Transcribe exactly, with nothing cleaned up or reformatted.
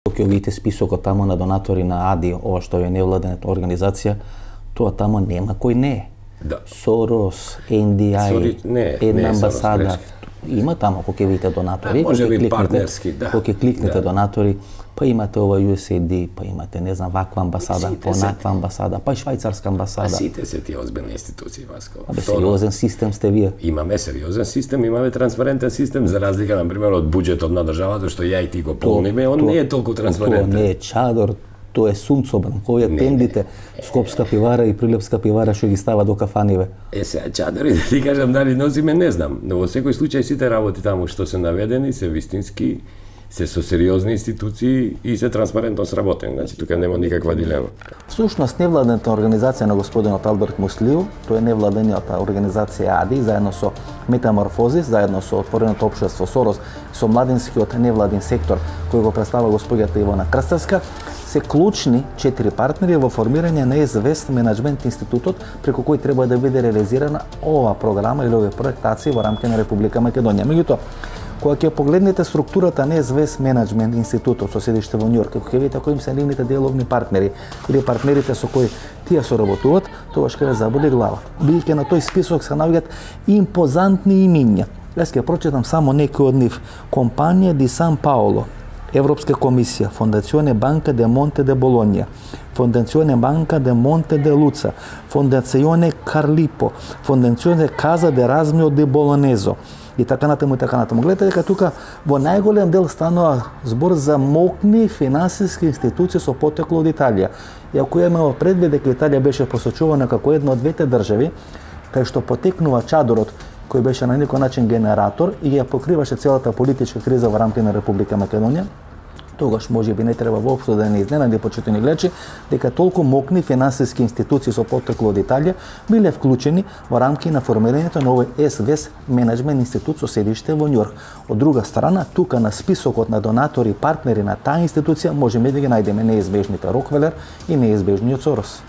Ќе видите списокот тамо на донатори на АДИ, ова што е невладена организација, тоа тамо нема кој не е. Да. Сорос, Ен Ди Ај, една амбасада. Има тамо кој ќе видите донатори, може би партнерски, да. Кој ќе кликнете донатори, па имате ова Ю Ес Ей Ди, па имате не знам ваква амбасада, понаква амбасада, па и швајцарска амбасада. А сите се тие озбилни институции, Васко. Абе сериозен систем сте вие. Имаме сериозен систем, имаме транспарентен систем, за разлика на пример од буџетот на државата што ја и ти го полниме, он не е толку транспарентен. Тоа не е чадор, тоа е сунцобран, кој е тендите, Скопска пивара и Прилепска пивара што ги става до кафаниве. Е, сега чадори, да ти кажам дали носиме, не знам, но во секој случај сите работи таму што се наведени се вистински, се со сериозни институции и се транспарентно сработени, значи тука нема никаква дилема. Всушност невладената организација на господинот Алберт Муслиу, тоа е невладениот организација АДИ, заедно со Метаморфозис, заедно со Отвореното општество Сорос, со младинскиот невладин сектор кој го представува господјата Ивана Крстевска, се клучни четири партнери во формирање на ЕСВЕС менеджмент институтот преку кој треба да биде реализирана ова програма или овие проектации во рамките на Република Македонија. Меѓутоа, кога ќе погледнете структурата на ЕСВЕС менеджмент институтот со седиште во Њујорк, кога ќе видите кои се нивните деловни партнери или партнерите со кои тие соработуваат, тогаш ќе ве заболи глава. Бидејќи на тој список се наоѓаат импозантни имиња. Јас ќе прочитам само некои од нив. Компанија Ди Сан Паоло, Европска комисија, Фондационе Банка де Монте де Болонја, Фондационе Банка де Монте де Луца, Фондационе Карлипо, Фондационе Каза де Размио де Болонезо и така натаму и така натаму. Гледате дека тука во најголем дел станува збор за мокни финансиски институции со потекло од Италија. И ако имаме предвид дека Италија беше посочувана како една од двете држави кај што потекнува чадорот кој беше на некој начин генератор и ја покриваше целата политичка криза во рамките на Република Македонија, тогаш може би не треба воопшто да не изненади почитувани гледачи дека толку мокни финансиски институции со потекло од Италија биле вклучени во рамки на формирањето на овој ЕСВЕС менеджмент институт со седиште во Њујорк. Од друга страна, тука на списокот на донатори и партнери на таа институција можеме да ги најдеме неизбежните Рокфелер и неизбежниот Сорос.